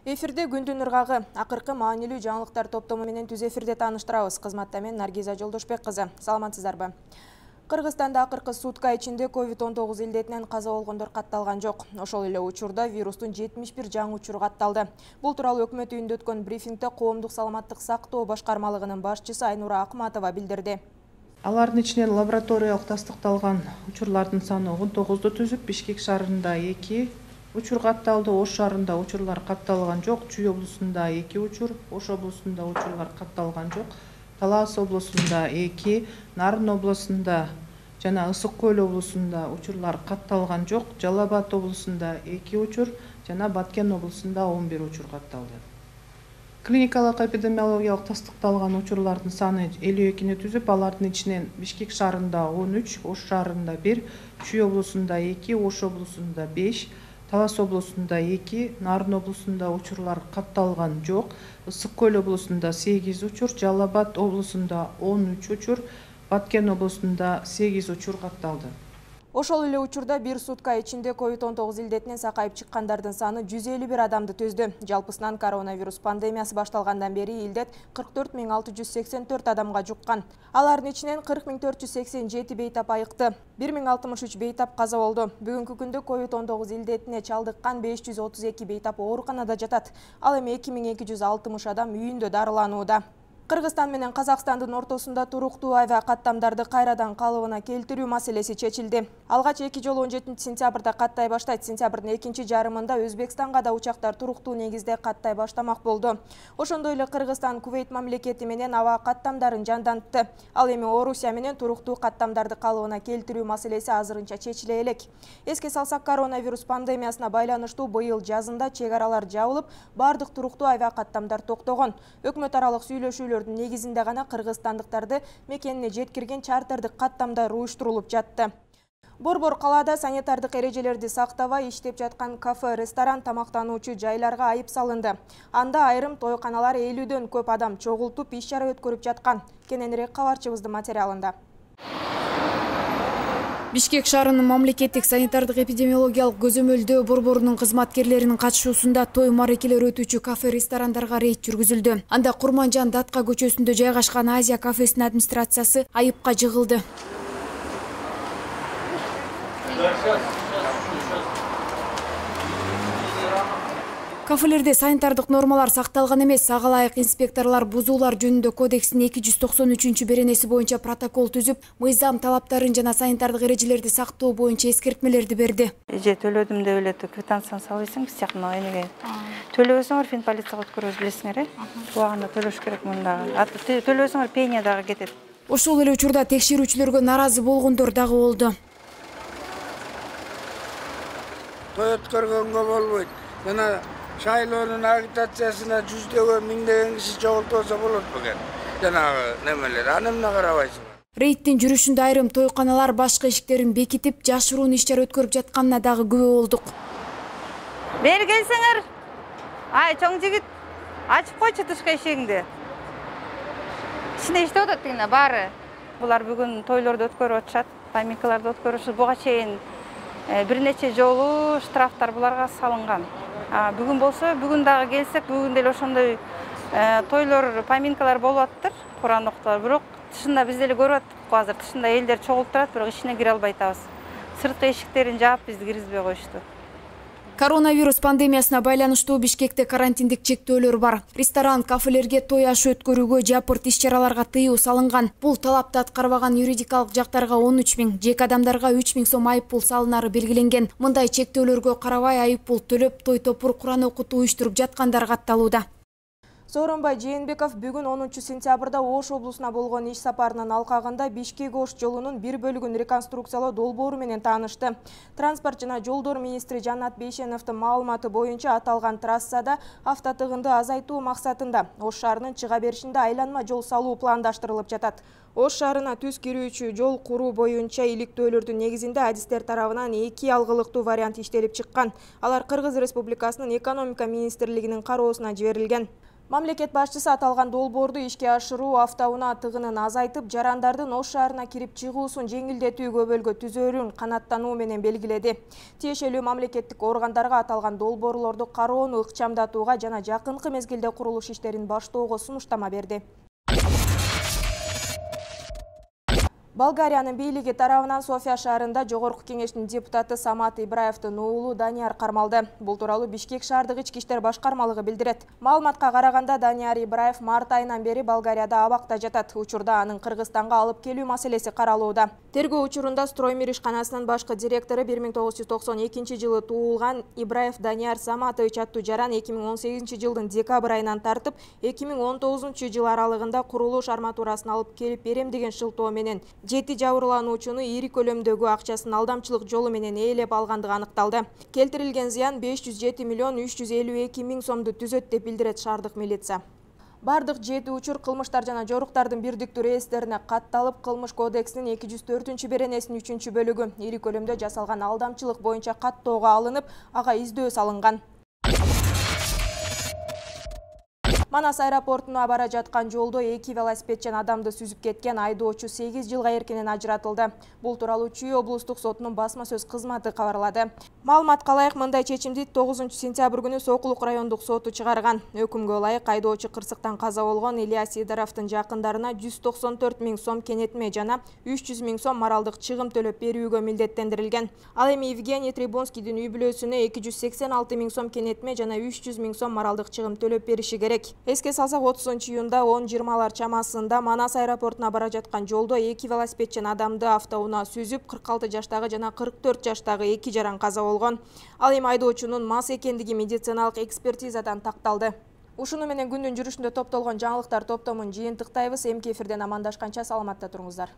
Эфирде күндүн ыргагы, акыркы маанилүү жаңылыктар топтому менен түз эфирде тааныштырабыз. Кызматта мен Наргиза Жолдошбек кызы. Саламатсыздарбы? Кыргызстанда акыркы сутка ичинде COVID-19 илдетинен каза болгондор катталган жок. Ошол эле учурда вирустун 71 жаңы учуру катталды. Бул тууралуу өкмөт үйүндө өткөн брифингде коомдук саламаттык сактоо башкармалыгынын башчысы Айнура Акматова билдирди. Алардын ичинен лабораториялык тастыкталган учурлардын саны 19-ду түзүп, Бишкек шаарында 2 учур катталды, Ош шаарында учурлар катталган жок, Чүй облусунда 2 учур, Ош облусунда учурлар катталган жок, Талас облусунда 2, Нарын облусунда жана Ысык Көл облусунда учурлар катталган жок, Жалал Абад облусунда 2 учур жана Баткен облусунда 11 учур катталды. Клиникалык эпидемиологиялык тастыкталган учурлардын саны 52-ни түзүп, алардын ичинен Бишкек шаарында 13, Ош шаарында 1, Чүй облусунда 2, Ош облусунда 5, Талас облусунда 2, Нарын облусунда учурлар катталган жок, Ысык Көл облусунда 8 учур, Жалал Абад облусунда 13 учур, Баткен облусунда 8 учур катталды. Ошол эле учурда бир сутка ичинде COVID-19 илдетинен сакайып чыккандардын саны 151 адамды түздү. Жалпысынан коронавирус пандемиясы башталгандан бери илдет 44 684 адамга жуккан. Алардын ичинен 40 487 бейтап айыкты. 1063 бейтап каза болду. Бүгүнкү күндө COVID-19 илдетине чалдыккан 532 бейтап ооруканада жатат. Ал эми 2260 адам үйүндө дарыланууда. Кыргызстан менен Казакстандын ортосунда туруктуу аviа каттамдарды кайрадан калыбына келтирүү маселеси чечилди. Алгач 2 жолу 17 сентябрда каттай баштайт. Сентябрдын экинчи жарымында Өзбекстанга да учактар туруктуу негизде каттай баштамак болду. Ошондой эле Кыргызстан Кувейт мамлекети менен аviа каттамдарын жандантты. Ал эми Орусия менен туруктуу каттамдарды калыбына келтирүү маселеси азырынча чечиле элек. Эске салсак, коронавирус пандемиясына байланыштуу быйыл жазында чек аралар жабылып, бардык туруктуу аviа каттамдар токтогон. Өкмөт аралык сүйлөшүүлөр негизинде гана кыргызстандыктарды мекенине жеткирген чартердик каттамдар уюштурулуп жатты. Борбор калаада санитардык эрежелерди сактабай иштеп жаткан кафе, ресторан, тамактануучу жайларга айып салынды. Анда айрым тойканалар 50дөн көп адам чогултуп иш-чара өткөрүп жаткан. Кененирээк кабарчыбыздын материалында. Бишкек шаарынын мамлекеттик санитардык эпидемиологиялык көзөмөлдөө борборунун кызматкерлеринин катышуусунда той марекелер өтүүчү кафе, ресторандарга рейд жүргүзүлдү. Анда Курманжан Датка көчөсүндө жайгашкан Азия кафесинин администрациясы айыпка жыгылды. Кафелерде санитардык нормалар сакталган эмес. Ага ылайык инспекторлор бузуулар жөнүндө кодекстин 293-беренеси боюнча протокол түзүп, мыйзам талаптарын жана санитардык эрежелерди сактоо боюнча эскертмелерди берди. Же төлөдүм деп эле квитанцияны салбайсың, биз жакын энеге төлөбөсөңөр фин полицияга өткөрөбүз, билесиңер, убагында төлөш керек мындагы. Төлөбөсөңөр пеня дагы кетет. Ошол эле учурда текшерүүчүлөргө наразы болгондор дагы болду. Той өткөргөнгө болбойт. Жана шайлоонун агитациясына жүздөгөн миңдеген киши чогултса болот бекен. Жанагы немелер, аны эмне карабайсыңар? Рейдтин жүрүшүндө айрым тойканалар башка эшиктерин бекитип, жашыруун иш-чара өткөрүп жатканына дагы күбө болдук. Бери келсеңер. Ай, чоң жигит, ачып койчу тышкы эшигиңди. Ичинде иштеп атат дегене баары. Булар бүгүн тойлорду өткөрүп атышат, поминкаларды өткөрүшүп, буга чейин бир нече жолу штрафтар буларга салынган. Бүгүн болсо, бүгүн дагы келсек, бүгүн деле ошондой тойлор, поминкалар болуп аттыр, Куран окутулат. Бирок тышында биз деле көрүп аттык, азыр тышында элдер чогулуп турат, бирок ичине кире албай атабыз. Сырткы эшиктерин жаап бизди киргизбей коюшту. Коронавирус пандемиясына байланыштуу Бишкекте карантиндик чектөөлөр бар. Ресторан, кафелерге той ашы өткөрүүгө, жапырт иш-чараларга тыюу салынган. Бул талапты аткарбаган юридикалык жактарга 13 000, жеке адамдарга 3 000 сом айып пул салынары белгиленген. Мындай чектөөлөргө карабай айып пул төлөп, той топур Куран окутуу уюштуруп жаткандар катталууда. Сооронбай Жээнбеков бүгүн 10 сентябрда Ош облусуна болгон иш сапарынын алкагында Бишкек-Ош жолунун бир бөлүгүн реконструкциялоо долбоору менен таанышты. Транспорт жана жолдор министри Жанат Бейшеновдун маалыматы боюнча аталган трассада автотыгынды азайтуу максатында Ош шаарынын чыга беришинде айланма жол салуу пландаштырылып жатат. Ош шаарына түз кирүүчү жол куруу боюнча иликтөөлөрдүн негизинде адистер тарабынан 2 алгылыктуу вариант иштелип чыккан. Алар Кыргыз Республикасынын экономика министрлигинин кароосуна жиберилген. Мамлекет башчысы аталган долбоорду ишке ашыруу автоунаа тыгынын азайтып, жарандардын Ош шаарына кирип чыгуусун жеңилдетүү көбөлгө түзөрүн канаттануу менен белгиледи. Тиешелүү мамлекеттик органдарга аталган долбоорлорду кароону ыкчамдатууга жана жакынкы мезгилде курулуш иштерин баштоого сунуштама берди. Болгариянын бийлиги тарабынан София шаарында Жогорку кеңештин депутаты Самат Ибраевдин уулу Данияр кармалды. Бул тууралуу Бишкек шаардык ички иштер башкармалыгы билдирет. Маалыматка караганда Данияр Ибраев март айынан бери Болгарияда абакта жатат. Учурда анын Кыргызстанга алып келүү маселеси каралууда. Тергөө учурунда Строймир ишканасынын башкы директору 1992 жылы туулган Ибраев Данияр Саматович аттуу жаран 2018 жылдын декабрь айынан тартып 2019 жыл аралыгында курулуш арматурасын алып келип берем деген шылтоо менен 7 жабырлануучуну ири көлөмдөгү акчасын алдамчылык жолу менен ээлеп алгандыгы аныкталды. Келтирилген зыян 507 миллион 352 миң сомду түзөт деп билдирет шаардык милиция. Бардык 7 учур кылмыштар жана жоруктардын бирдиктүү реестерине катталып, Кылмыш кодексинин 204 беренесинин 3 бөлүгү ири көлөмдө жасалган алдамчылык боюнча каттоого алынып, ага издөө салынган. Манас аэропортуна бара жаткан жолдо 2 велосипедчен адамды сүзүп кеткен айдоочу 8 жылга эркинен ажыратылды. Бул тууралуу Чүй облустук сотунун басма сөз кызматы кабарлады. Маалыматка ылайык, мындай чечимди 9 сентябрь күнү Сокулук райондук соту чыгарган. Өкүмгө ылайык айдоочу кырсыктан каза болгон Ильяс Сидоровдун жакындарына 194 миң сом кенетме жана 300 миң сом моралдык чыгым төлөп берүүгө милдеттендирилген. Ал эми Евгений Трибунскийдин үй бүлөсүнө 286 миң сом кенетме жана 300 миң сом моралдык чыгым төлөп бериши керек. Эске салсак, 30 июнда 10:20 чамасында Манас аэропортуна бара жаткан жолдо 2 велосипедчен адамды автоунаа сүзүп, 46 жаштагы жана 44 жаштагы 2 жаран каза болгон. Ал эми айдоочунун мас экендиги медициналык экспертизадан такталды. Ушуну менен күндүн жүрүшүндө топтолгон жаңылыктар топтомун жыйынтыктайбыз. Эмки эфирден амандашканча саламатта туруңуздар.